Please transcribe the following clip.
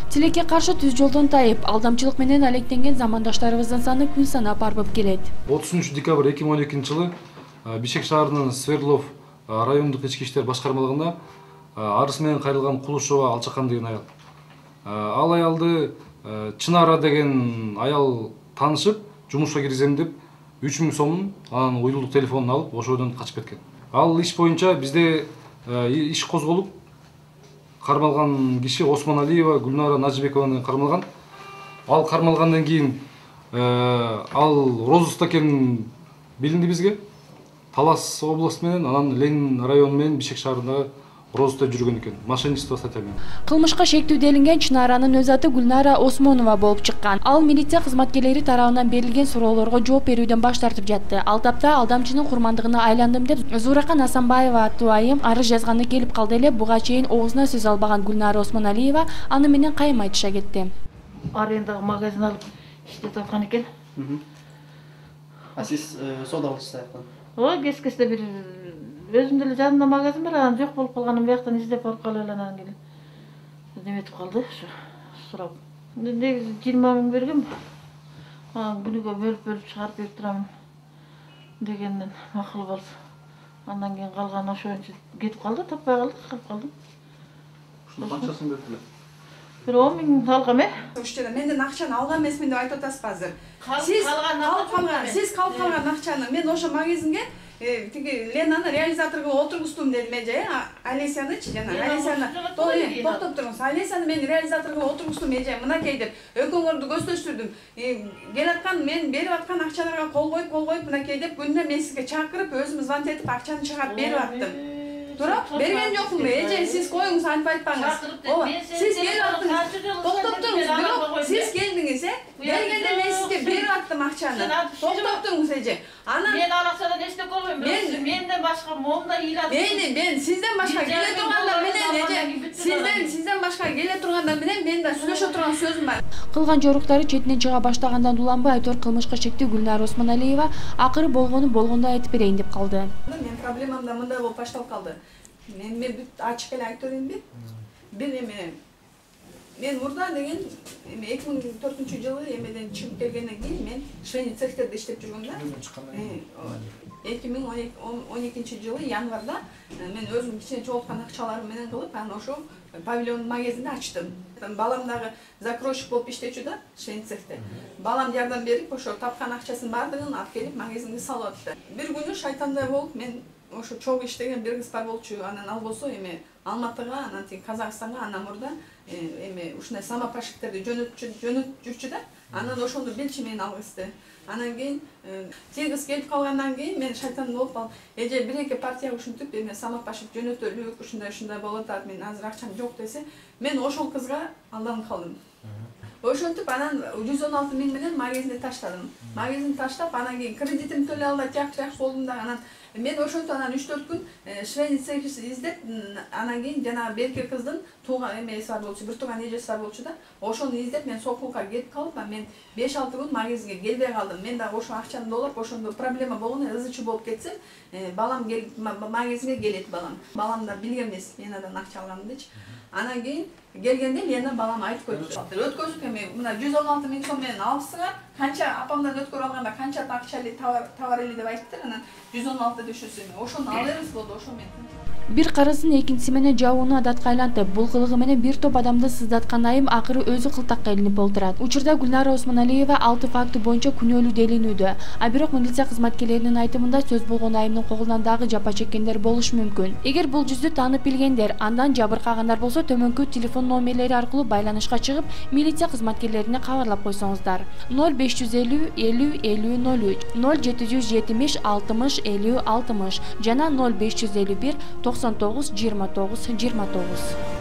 Тилекке каршы түз жолдон тайып, алдамчылык менен алектенген замандаштарыбыздын саны күн санап арбып келет. 30 декабрь 2012 жылы Бишкек шаарынын Свердлов райондук ички иштер башкармалыгына арыз менен кайрылган Кулушова Алчакан деген аял. Ал аялды Чынара деген аял таанышып, жумушка киргизем деп 3000 сомун, анан уюлдук телефонун алып, ошодон качып кеткен. Ал иш боюнча бизде иш козголуп, кармалган киши Осмон Алиева Гүлнара Нажибекованы кармалган. Ал кармалгандан кийин ал розыскта экени билинди бизге. Талас областы менен, анан Ленин району менен Бишкек шаарындагы розыскта жүргөн экен. Мошенничество статья менен. Кылмышка шектүү делинген Чынаранын өз аты Гүлнара Осмонова болуп чыккан. Ал милиция кызматкерлери тарабынан берилген суроолорго жооп берүүдөн баш тартып жатты. Ал тапта алдамчынын курмандыгына айландым деп Зуракан Асанбаева аттуу айым арыз жазганы келип калды эле. Буга чейин оозуна сөз албаган Гүлнара Осмоналиева аны менен кайым айтыша кетти. Арендага магазин алып иштетип аткан экен. А сиз соода кылышсыз аяктан? Ой, кескесте бир өзүмдө эле жанымда магазин бар, анан жок болуп калганын бияктан издеп барып калып эле анан келип неметип калды, сурап. Негизи 20 000 бергем. Анан күнүгө бөлүп чыгарып берип турам дегенден макул болду. Андан кийин калган ошончо кетип калды, таппай калдык, калып калдым. Ушунун канчасын берип эле? Бир 10 000 алгам, Ушча менден акчаны алган эмесмин деп айтып атасыз азыр. Сиз калып калган акчаны мен ошо магазинге тиги Ленаны реализатор кылып отургуздум дедим эже, Алесянычы жана Алесяны токтоп туруңуз. Алесяны мен реализатор кылып отургуздум эже, мынакей деп экөөңөрдү көздөштүрдүм. Келаткан мен берип аткан акчаларга кол коюп мынакей деп күнүнө мен сизге чакырып өзүм звонок этип акчаны чыгарып берип аттым. Туруп берген жокмун эже, сиз коюңуз, антип айтпаңыз. Сиз келип аттыңыз. Токтоп туруңуз, бирок сиз келдиңиз, келгенде мен сизге берип аттым акчаны. Токтоп туруңуз эже. Анан мен алакчадан эчтеке болбойм, бирок менден башка момда ыйлап. Мен сизден башка келе тургандар менен эже, сизден башка келе тургандар менен мен да сүйлөшө турган сөзүм бар. Кылган жоруктары четинен чыга баштагандан уланбай айтор кылмышка шектүү Гүлнара Осмоналиева акыры болгондой айтып берейин деп калды. Мен проблемам да мындай болуп башталып калды. Мен бүт ачык эле айтып берейинби? Бир мен мурда деген 2004-жылы эмеден чыгып келгенден кийин мен швейный цехтерде иштеп жүргөм да. 2012-жылы январда мен өзүм кичине чогулткан акчаларым менен кылып, анан ошо павильон магазинди ачтым. Балам дагы закройщик болуп иштечү да, швейный цехте. Балам жардам берип, ошо тапкан акчасын бардыгын алып келип магазинге салып атты. Бир күнү шайтандай болуп мен ошо чогуу иштеген бир кыз бар болчу, анан ал болсо Алматыга, анан Казакстанга, анан мурда ушундай самопашиктерди жөнөтүп жүрчү да. Анан ошону билчү мен ал кызды. Анан кийин тиги кыз келип калгандан кийин мен шайтан болуп ал эже бир-эки партия ушинтип самопашик жөнөтөлүк, ушундай болот атат, мен азыр акчам жок десе, мен ошол кызга алданып калдым. Ошентип анан 116 000 менен магазинди таштадым. Магазинди таштап, анан кийин кредитимди төлөй албай жак болдум да, анан мен ошентип анан 3-4 күн швейный цех издеп, анан кийин жана берки кыздын тууган эмеси бар болчу, бир тууган эжеси бар болчу да. Ошону издеп мен Сокулга кетип калып, мен 5-6 күн магазинге келбей калдым. Мен дагы ошо акчаны доолап, ошондо проблема болгону ызычы болуп кетсем, балам келип магазинге келет балам. Балам да билген эмес мен андан акча алганымдычы. Анан кийин келгенде Лена балам айтып койду. Өткөзүп мына 116 000 сом менен алыпсыңар, канча апамдан өткөрүп алганда канча акчалы товар эле деп айтыптыр, анан 116 дөшөсү. Ошону алырбыз болду, ошо мен. Бир карасын экинчиси менен жабууну адатка айлантып, бул кылыгы менен бир топ адамды сыздаткан айым акыры өзү кылтакка илинип олтурат. Учурда Гүлнара Осмоналиева 6 факты боюнча күнөөлүү делинүүдө. А бирок милиция кызматкерлеринин айтымында сөз болгон айымдын колунан дагы жапа чеккендер болушу мүмкүн. Эгер бул жүздү таанып билгендер, андан жабыркагандар болсо төмөнкү телефон номерлери аркылуу байланышка чыгып, милиция кызматкерлерине кабарлап койсоңуздар. 0550 50 50 03, 0770 60 50 60 жана 0551 99 29 29.